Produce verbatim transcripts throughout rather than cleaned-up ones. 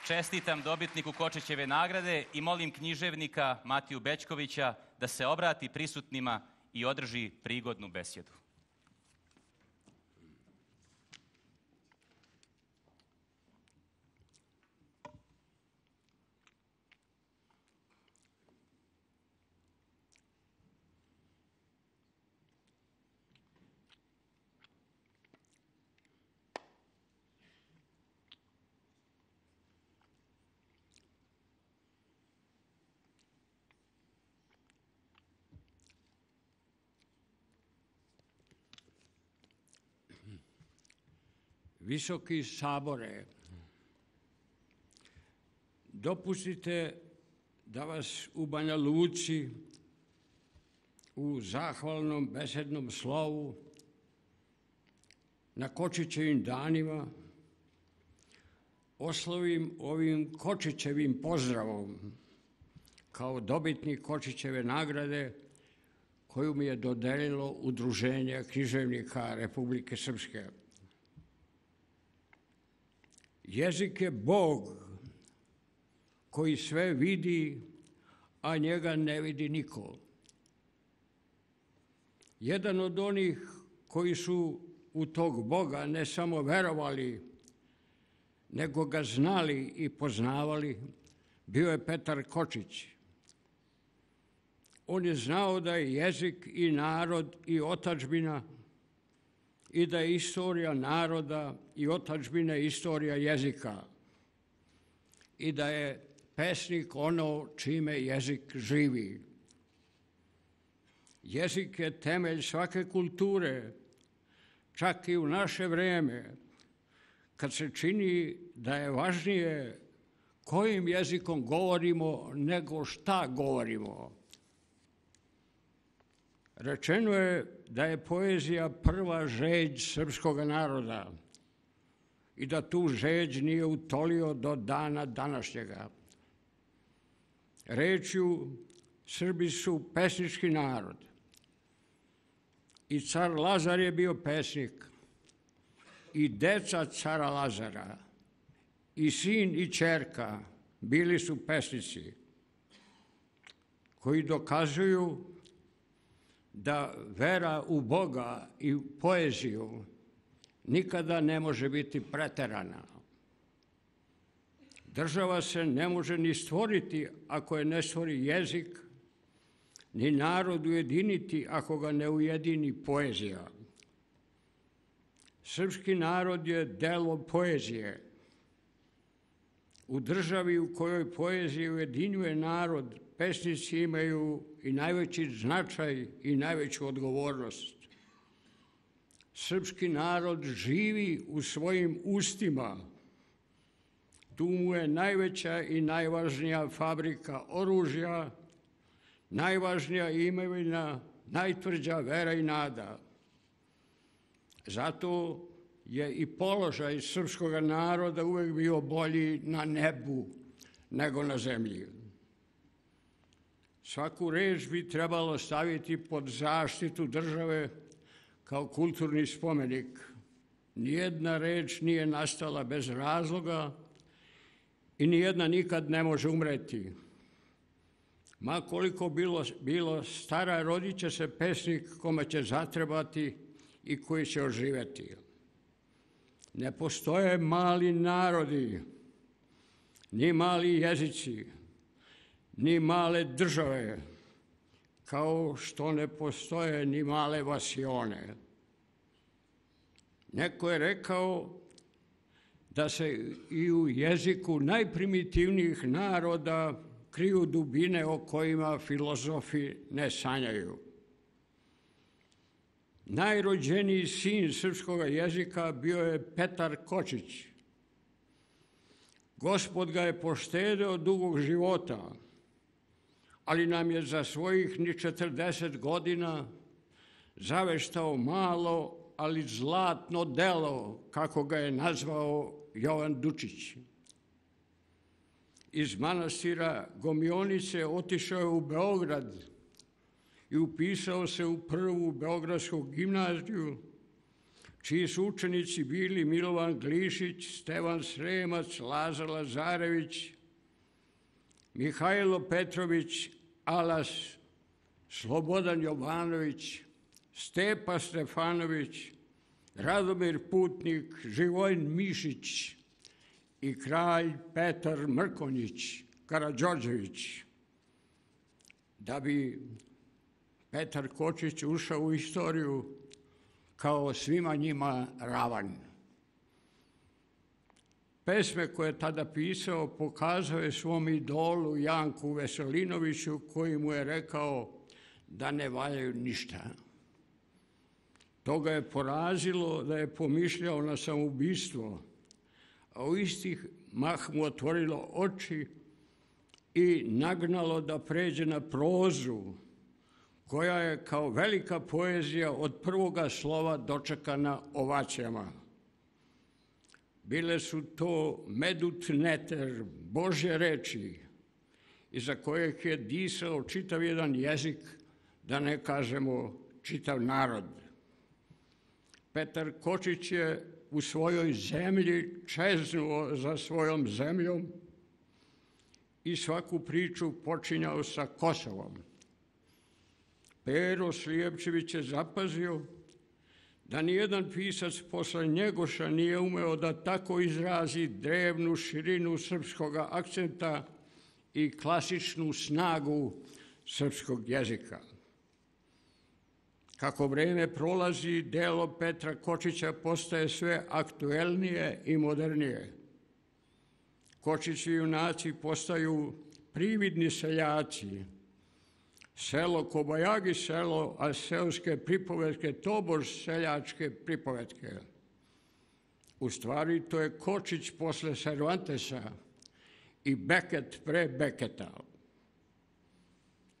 Čestitam dobitniku Kočićeve nagrade i molim književnika Matiju Bećkovića da se obrati prisutnima i održi prigodnu besjedu. Visoki sabore, dopustite da vas u Banja Luci u zahvalnom besednom slovu na Kočićevim danima oslovim ovim Kočićevim pozdravom kao dobitnik Kočićeve nagrade koju mi je dodelilo Udruženje književnika Republike Srpske. Jezik je Bog koji sve vidi, a njega ne vidi niko. Jedan od onih koji su u tog Boga ne samo verovali, nego ga znali i poznavali, bio je Petar Kočić. On je znao da je jezik i narod i otadžbina i da je istorija naroda i otadžbine istorija jezika i da je pesnik ono čime jezik živi. Jezik je temelj svake kulture, čak i u naše vreme, kad se čini da je važnije kojim jezikom govorimo nego šta govorimo. Rečeno je da je poezija prva žeđ srpskog naroda i da tu žeđ nije utolio do dana današnjega. Rečju, Srbi su pesnički narod i car Lazar je bio pesnik i deca cara Lazara i sin i ćerka bili su pesnici koji dokazuju da vera u Boga i u poeziju nikada ne može biti preterana. Država se ne može ni stvoriti ako je ne stvori jezik, ni narod ujediniti ako ga ne ujedini poezija. Srpski narod je delo poezije. U državi u kojoj poezija ujedinjuje narod, pesnici imaju i najveći značaj i najveću odgovornost. Srpski narod živi u svojim ustima. Tu mu je najveća i najvažnija fabrika oružja, najvažnija imovina, najtvrđa vera i nada. Zato je i položaj srpskog naroda uvek bio bolji na nebu nego na zemlji. Svaku reč bi trebalo staviti pod zaštitu države kao kulturni spomenik. Nijedna reč nije nastala bez razloga i nijedna nikad ne može umreti. Ma koliko bilo, bilo stara, rodit će se pesnik kome će zatrebati i koji će oživeti. Ne postoje mali narodi, ni mali jezici, ni male države, kao što ne postoje ni male vasione. Neko je rekao da se i u jeziku najprimitivnijih naroda kriju dubine o kojima filozofi ne sanjaju. Najrođeniji sin srpskog jezika bio je Petar Kočić. Gospod ga je poštedeo dugog života, ali nam je za svojih ni četrdeset godina zaveštao malo, ali zlatno delo, kako ga je nazvao Jovan Dučić. Iz manastira Gomionice otišao je u Beograd i upisao se u prvu beogradsku gimnaziju, čiji su učenici bili Milovan Glišić, Stevan Sremac, Lazar Lazarević, Mihajlo Petrović, Alas, Slobodan Jovanović, Stepa Stefanović, Radomir Putnik, Živojin Mišić i kralj Petar Mrkonjić Karađorđević. Da bi Petar Kočić ušao u istoriju kao svima njima ravan. Pesme koje je tada pisao pokazao je svom idolu Janku Veselinoviću, koji mu je rekao da ne valjaju ništa. To ga je porazilo da je pomišljao na samoubistvo, a u istih mah mu otvorilo oči i nagnalo da pređe na prozu, koja je kao velika poezija od prvoga slova dočekana ovacijama. Bile su to medut neter, Božje reči, iza kojeg je disao čitav jedan jezik, da ne kažemo čitav narod. Petar Kočić je u svojoj zemlji čeznuo za svojom zemljom i svaku priču počinjao sa Kosovom. Pero Slijepčević je zapazio da nijedan pisac posle Njegoša nije umeo da tako izrazi drevnu širinu srpskog akcenta i klasičnu snagu srpskog jezika. Kako vreme prolazi, delo Petra Kočića postaje sve aktuelnije i modernije. Kočići junaci postaju prividni seljaci. Selo Kobajagi selo, a seoske pripovetke tobož seljačke pripovetke. U stvari to je Kočić posle Cervantesa i Beket pre Beketa.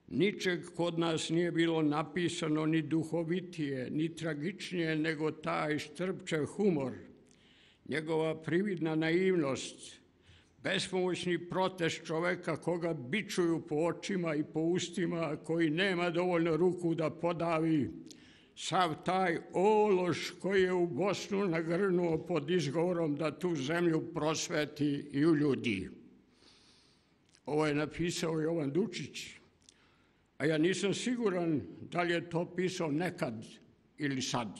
Ničeg kod nas nije bilo napisano ni duhovitije, ni tragičnije nego taj Štrpčev humor, njegova prividna naivnost, bespomoćni protest čoveka koga bičuju po očima i po ustima, koji nema dovoljno ruku da podavi sav taj ološ koji je u Bosnu nagrnuo pod izgovorom da tu zemlju prosveti i uljudi. Ovo je napisao Jovan Dučić, a ja nisam siguran da li je to pisao nekad ili sad.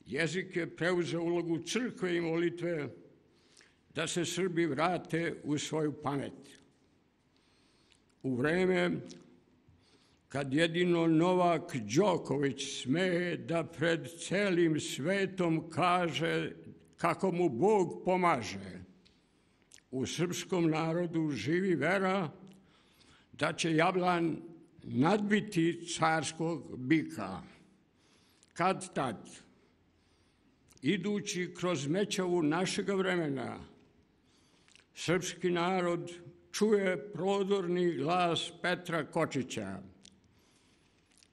Jezik je preuzeo ulogu crkve i molitve da se Srbi vrate u svoju pamet. U vreme kad jedino Novak Đoković sme da pred celim svetom kaže kako mu Bog pomaže, u srpskom narodu živi vera da će Jablan nadbiti carskog bika. Kad tad, idući kroz mećavu našega vremena, srpski narod čuje prodorni glas Petra Kočića.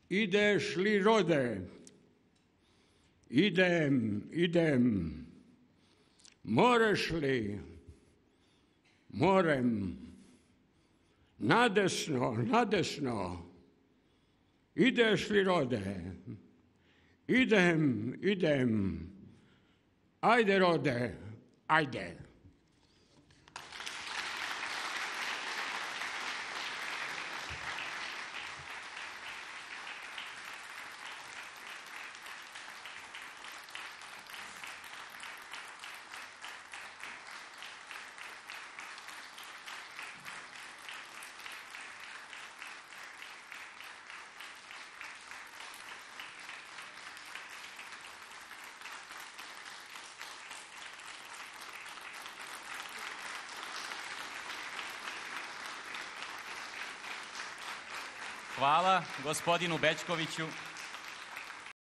Ideš li, rode? Idem, idem. Moreš li? Morem. Nadesno, nadesno. Ideš li, rode? Idem, idem. Ajde, rode, ajde. Hvala gospodinu Bećkoviću.